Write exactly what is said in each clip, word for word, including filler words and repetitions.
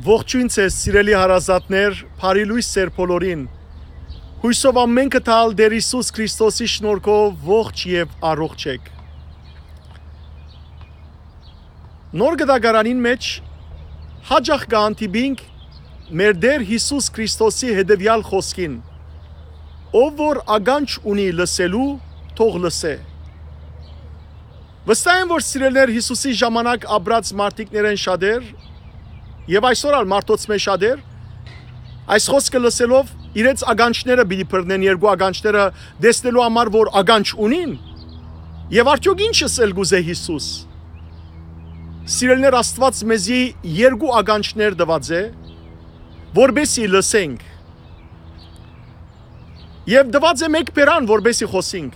Ողջոյն ձեզ, սիրելի հարազատներ, բարի լոյս ձեր բոլորին։ Յուսով ամէնքը տալ Տէր Յիսուս Քրիստոսի շնորհքով ողջ եւ առողջ եք։ Նոր գտակարանին մէջ հաճախ կը հանդիպինք մեր Տէր Յիսուս Քրիստոսի հետեւեալ խօսքին. «Ով որ ականջ ունի լսելու, թող լսէ»։ Վստահ եմ, որ սիրելիներ, Յիսուսի ժամանակ ապրած մարդիկներէն շատեր եւ այսօր ալ մարդոց մէ շատեր այս խօսքը լսելով իրենց ականջները պիտի բռնեն, երկու ականջները, տեսնելու համար, որ ականջ ունին, եւ արդեօք ի՞նչ ըսել կ'ուզէ Յիսուս։ Սիրելիներ, Աստուած մեզի երկու ականջներ տուած է, որպեսզի լսենք, եւ տուած է մէկ բերան, որպեսզի խօսենք։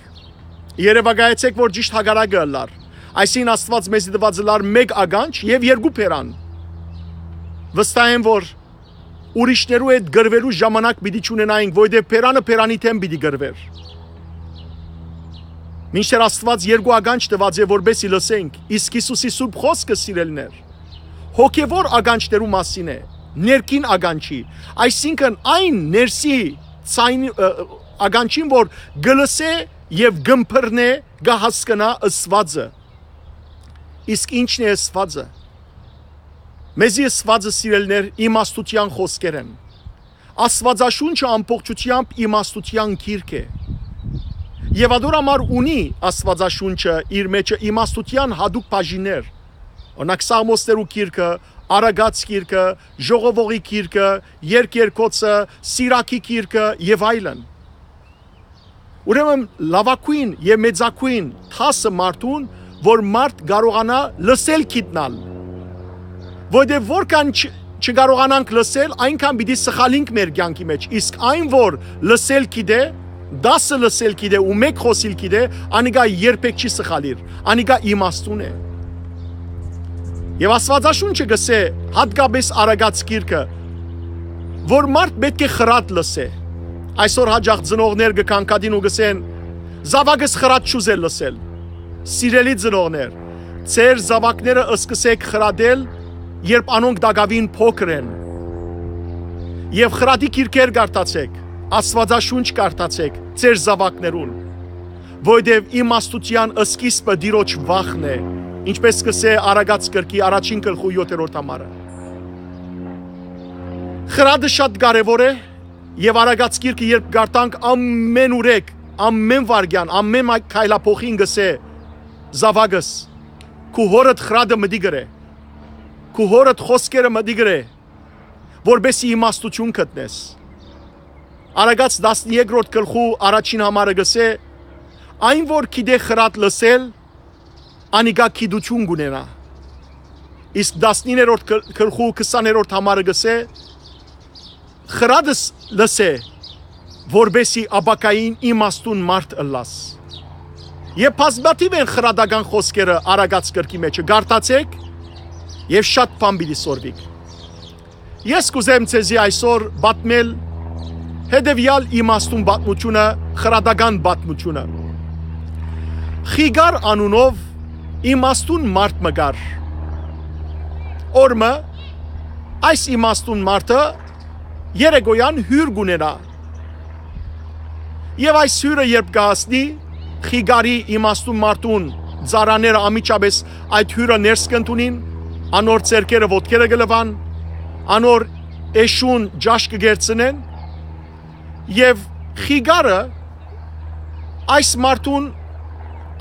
Երեւակայեցէք, որ ճիշդ հակառակը ըլլար։ Այսինքն, Աստուած մեզի տուած ըլլար մէկ ականջ եւ երկու բերան։ Վստահ եմ, որ ուրիշներու հետ կռուելու ժամանակ պիտի չունենայինք, որովհետեւ բերանը բերանի դէմ պիտի կռուէր։ Մինչդեռ Աստուած երկու ականջ տուած է, որպեսզի լսենք, իսկ Յիսուսի Սուրբ Խօսքը, սիրելիներ, հոգեւոր ականջներու մասին է, ներքին ականջի, այսինքն այն ներսի ձայնի, ը, ը, ականջին, որ կը լսէ եւ կ'ըմբռնէ, կը հասկնայ ըսուածը։ Իսկ ի՞նչն է ըսուածը։ Մեզի ըսուածը, սիրելիներ, իմաստութեան խօսքեր են։ Աստուածաշունչը ամբողջութեամբ իմաստութեան գիրք է։ Եւ ադոր համար ունի Աստուածաշունչը իր մէջը իմաստութեան յատուկ բաժիններ, օրինակ, Սաղմոսներու գիրքը, Արագած գիրքը, Ժողովողի գիրքը, Երկերկոցը, Սիրակի գիրքը եւ այլն։ Ուրեմն լաւագոյն եւ մեծագոյն դասը մարդուն, որ մարդ կարողանայ լսել գիտնալ, որովհետեւ որքան չ-, չկարողանանք լսել, այնքան պիտի սխալինք մեր կեանքի մէջ, իսկ այն, որ լսել գիտէ, դասը լսել գիտէ ու մէկ խօսիլ գիտէ, անիկա երբեք չի սխալիր, անիկա իմաստուն է։ Եւ Աստուածաշունչը կ'ըսէ, յատկապէս Արագած գիրքը, որ մարդ պէտք է խրատ լսէ։ Այսօր հաճախ ծնողներ կը կանգատին ու կ'ըսեն. «Զաւակս խրատ չ'ուզեր լսել»։ Սիրելի ծնողներ, ձեր զաւակները սկսէք խրատել, երբ անոնք տակաւին փոքր են։ Եւ խրատի գիրքեր կարդացէք, Աստուածաշունչ կարդացէք ձեր զաւակներուն, որովհետեւ իմաստութեան սկիզբը Տիրոջ վախն է, ինչպէս կ'ըսէ Արագած կրկի առաջին գլխու յոթերորդ համարը։ Խրատը շատ կարեւոր է, եւ Արագած գիրքը երբ կարդանք, ամեն ուրեք, ամեն վայրկեան, ամեն մայ-, քայլափոխին կ'ըսէ. «Զաւակս, քու հօրդ խրատը մտի գրէ, քու հօրդ խօսքերը մտի գրէ, որպեսզի իմաստութիւն գտնես»։ Արագած տասներկրորդ գլխու առաջին համարը կ'ըսէ. «Այն որ գիտէ խրատ լսել, անիկա գիտութիւն կ'ունենայ»։ Իսկ տասներկրորդ գլ-, գլխու քսաներորդ համարը կ'ըսէ. «Խրատս լսէ, որպեսզի ապագային իմաստուն մարդ ըլլաս»։ Եւ բազմաթիւ են խրատական խօսքերը Արագած կրկի մէջը, կարդացէք եւ շատ բան պիտի սորվիք։ Ես կ'ուզեմ ձեզի այսօր պատմել հետեւեալ իմաստուն պատմութիւնը, խրատական պատմութիւնը։ Խիգար անունով իմաստուն մարդ մը կար։ Օր մը այս իմաստուն մարդը երեկոյան հիւր կ'ունենայ։ Եւ այս հիւրը երբ կը հասնի, խիգարի իմաստուն մարդուն ծառաները անմիջապէս այդ հիւրը ներս կ'ընդունին, անոր ձեռքերը ոտքերը կը լուան, անոր էշուն ճաշ կը կերցնեն, եւ խիգարը այս մարդուն,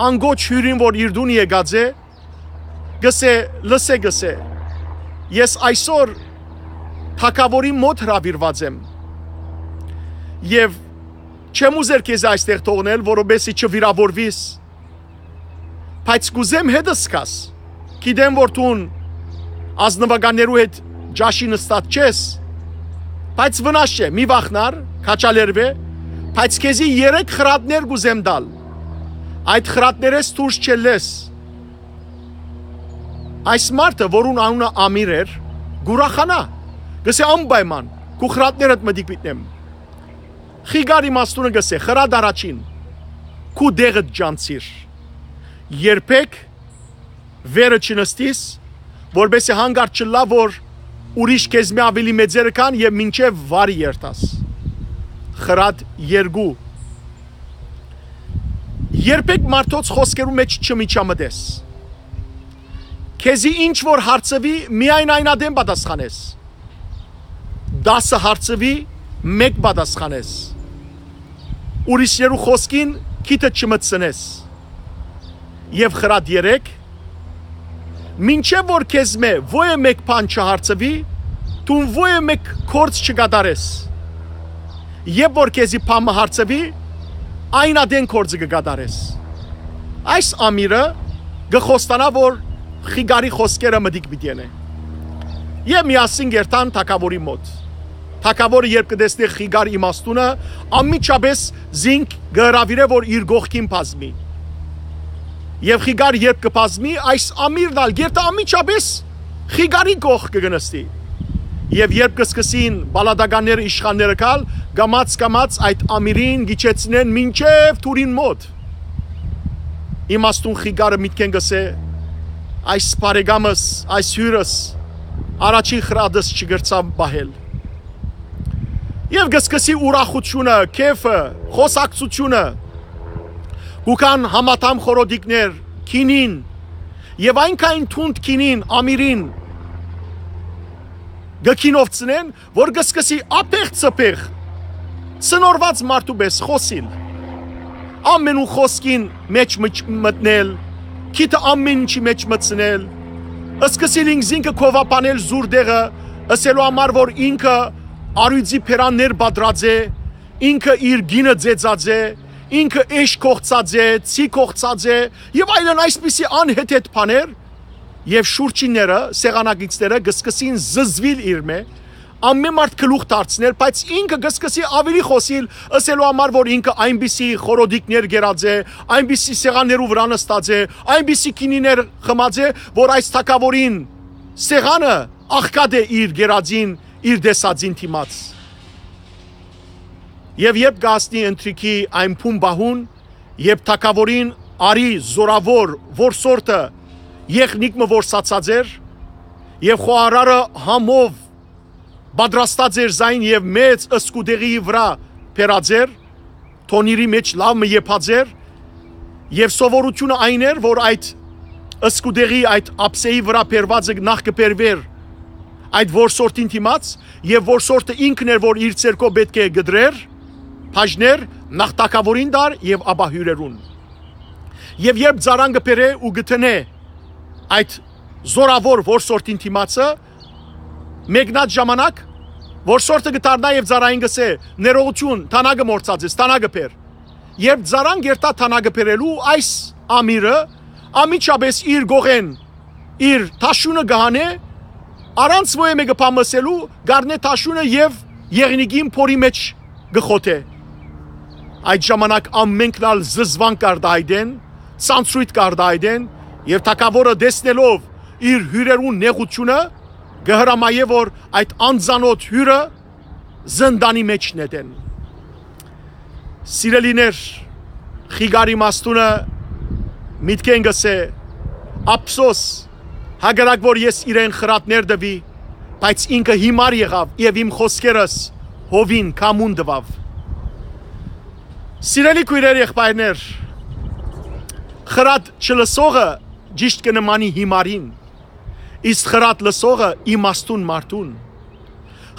անկոչ հիւրին, որ իր տուն եկած է, կ'ըսէ. «Լսէ», կ'ըսէ, «ես այսօր թագաւորին մօտ հրաւիրուած եմ եւ չեմ ուզեր քեզի այստեղ թողնել, որովհետեւ չվիրաւորուիս, բայց կ'ուզեմ հետս գաս։ Գիտեմ, որ դուն ազնուականներու հետ ճաշի նստած չես, բայց վնաս չէ, մի վախնար, քաջալերուէ, բայց քեզի երեք խրատներ կ'ուզեմ տալ։ Այդ խրատներէս դուրս չելլես»։ Այս մարդը, որուն անունը Ամիր էր, կ'ուրախանայ, կ'ըսէ. «Անպայման, քու խրատներդ մտիկ մտնեմ»։ Խիգար իմաստունը կ'ըսէ. «Խրատ առաջին, քու տեղդ ճանչցիր։ Երբեք վերը չնստիս, որպեսզի հանկարծ չըլլայ, որ ուրիշ քեզմէ աւելի մեծերը կան եւ մինչեւ վար երթաս։ Խրատ երկու։ Երբեք մարդոց խօսքերու մէջ չմիջամտես։ Քեզի ինչ որ հարցուի, միայն այն ատեն պատասխանես։ Տասը հարցուի, մէկ պատասխանես։ Ուրիշներու խօսքին քիթը չմտցնես։ Եւ խրատ երեք, մինչեւ որ քեզմէ ոյ մէկ բան չհարցուի, դուն ոյ մէկ գործ չկատարես։ Երբ որ քեզի բան մը հարցուի, այն ատեն գործը կը կատարես։ Այս ամիրը կը խոստանայ, որ խիկարի խօսքերը մտիկ պիտի ընէ։ Եւ միասին կ'երթան թագաւորի մօտ։ Թագաւորը երբ կը տեսնէ խիկար իմաստունը, անմիջապէս զինք կը հրաւիրէ, որ իր կողքին բազմի։ Եւ խիկար երբ կը բազմի, այս ամիրն ալ կ'երթայ անմիջապէս խիկարի կողքը կը նստի։ Եւ երբ կը սկսին պալատականները, իշխանները գալ, կամաց-կամաց այդ ամիրին կ'իջեցնեն մինչեւ դուռին մօտ։ Իմաստուն խիկարը միտքէն կ'ըսէ. «Այս բարեկամս, այս հիւրս, առաջին խրատս չկրցաւ պահել»։ Եւ կը սկսի ուրախութիւնը, քեֆը, խօսակցութիւնը։ Կու գան համադամ խորհոդիկներ, գինին, եւ այնքան թունդ գինին, ամիրին կը գինովցնեն, որ կը սկսի ափեղ-ծփեղ, ցնորված մարդու պէս խօսիլ, ամենուն խօսքին մէջ մջ-, մտնել, քիթը ամեն ինչի մէջ մտցնել, սկսիլ ինքզինքը քովաբանել զուր տեղը, ըսելու համար, որ ինքը առիւծի բերաններ պատրած է, ինքը իր գինը ձեծած է, ինքը էշ կողցած է, ցի կողցած է, եւ այլն, այսպիսի անհեթեթ բաներ, եւ շուրջինները, սեղանակիցները կը սկսին զզվել իրմէ, ամեն մարդ գլուխ դարձնել, բայց ինքը կը սկսի աւելի խօսիլ, ըսելու համար, որ ինքը այնպիսի խորհոդիկներ կերած է, այնպիսի սեղաններու վրայ նստած է, այնպիսի գինիներ խմած է, որ այս թագաւորին սեղանը աղքատ է իր կերածին, իր տեսածին դիմաց։ Եւ երբ կ'հասնի ընթրիքի այն բուն պահուն, երբ թագաւորին արի զօրաւոր որսորդը եղնիկ մը որսացած էր, եւ խոհարարը համով պատրաստած էր զայն եւ մեծ սկուտեղի վրայ բերած էր, թոնիրի մէջ լաւ մը եփած էր, եւ սովորութիւնը այն էր, որ այդ սկուտեղի, այդ ափսեի վրայ բերվածը նախ կը բերուէր այդ որսորդին դիմաց, եւ որսորդը ինքն էր, որ իր ձեռքով պէտք է կտրեր, բաժներ, նախ թագաւորին տար եւ ապա հիւրերուն։ Եւ երբ ծառան կը բերէ ու կը դնէ այդ զօրաւոր որսորդին դիմացը, մեկնած ժամանակ որսորդը կը դառնայ եւ ծառային կ'ըսէ. «Ներողութիւն, թանագը մոռցած ես, թանագը բեր»։ Երբ ծառան կ'երթայ թանագը բերելու, այս ամիրը անմիջապէս իր կողէն իր թաշունը կը հանէ, առանց ոյ մէկը բան ըսելու, կ'առնէ թաշունը եւ եղնիկին փորի մէջ կը խոթէ։ Այդ ժամանակ ամենքն ալ զզվանք կ'արտայայտեն, ցանցրոյթ կ'արտայայտեն, եւ թագաւորը, տեսնելով իր հիւրերուն նեղութիւնը, կը հրամայէ, որ այդ անծանօթ հիւրը զնդանի մէջ նետեն։ Սիրելիներ, խիկարի իմաստունը միտքէն կ'ըսէ. «Ափսոս, հակառակ որ ես իրեն խրատներ տուի, բայց ինքը հիմար եղաւ եւ իմ խօսքերս հովին, քամուն տուաւ»։ Սիրելի քոյրեր, եղբայրներ, խրատ չլսողը ճիշդ կը նմանի հիմարին, իսկ խրատ լսողը իմաստուն մարդուն։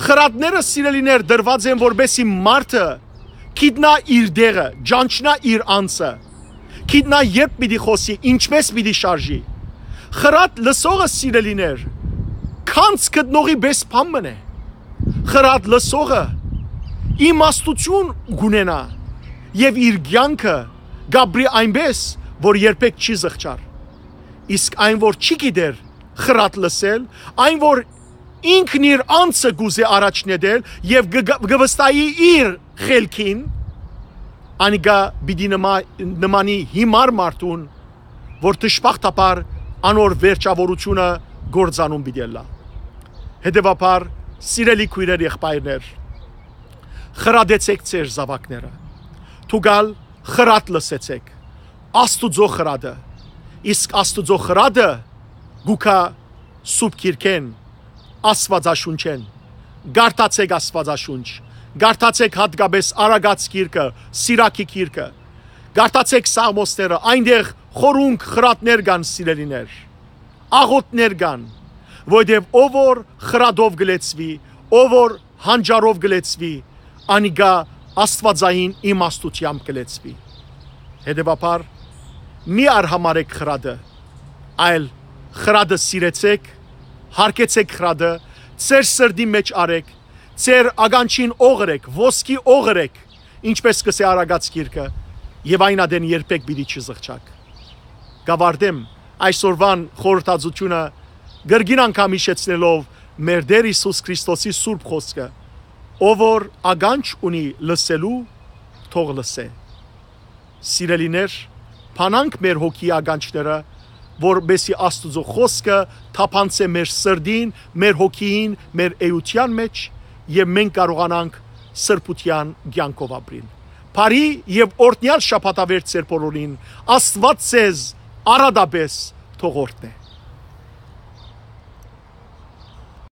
Խրատները, սիրելիներ, տրուած են, որպեսզի մարդը գիտնայ իր տեղը, ճանչնայ իր անձը, գիտնայ երբ պիտի խօսի, ինչպէս պիտի շարժի։ Խրատ լսողը, սիրելիներ, գանձ գտնողի պէս բան մըն է։ Խրատ լսողը իմաստութիւն կ'ունենայ եւ իր կեանքը կ'ապրի այնպէս, որ երբեք չի զղջար։ Իսկ այն, որ չի գիտեր խրատ լսել, այն, որ ինքն իր անձը կ'ուզէ առաջ նետել եւ կը, կը վստահի իր խելքին, անիկա պիտի նմա-, նմանի հիմար մարդուն, որ դժբախտաբար անոր վերջաւորութիւնը կործանում պիտի ըլլայ։ Հետեւաբար, սիրելի քոյրեր, եղբայրներ, խրատեցէք ձեր զաւակները։ Դուք ալ խրատ լսեցէք, Աստուծոյ խրատը, իսկ Աստուծոյ խրատը կու գայ Սուրբ Գիրքէն, Աստուածաշունչէն։ Կարդացէք Աստուածաշունչ։ Կարդացէք յատկապէս Արագած գիրքը, Սիրակի գիրքը։ Կարդացէք Սաղմոսները, այնտեղ խորունկ խրատներ կան, սիրելիներ, աղօթքներ կան, որովհետեւ ով որ խրատով կը լեցուի, ով որ հանճարով կը լեցուի, անիկա աստուածային իմաստութեամբ կը լեցուի։ Հետեւաբար, մի արհամարհէք խրատը, այլ խրատը սիրեցէք, հարգեցէք խրատը, ձեր սրտի մէջ առէք, ձեր ականջին օղ ըրէք, ոսկի օղ ըրէք, ինչպէս կ'ըսէ Արագած գիրքը, եւ այն ատեն երբեք պիտի չզղջաք։ Կ'աւարտեմ այսօրուան խորհրդածութիւնը կրկին անգամ յիշեցնելով մեր Տէր Յիսուս Քրիստոսի սուրբ խօսքը. «Ով որ ականջ ունի լսելու, թող լսէ»։ Սիրելիներ, բանանք մեր հոգիի ականջները, որպէսզի Աստուծոյ խօսքը թափանցէ մեր սրտին, մեր հոգիին, մեր էութեան մէջ, եւ մենք կարողանանք սրբութեան կեանքով ապրիլ։ Բարի եւ օրհնեալ շաբաթավերջ ձեր բոլորին։ Աստուած ձեզ առատապէս թող օրհնէ։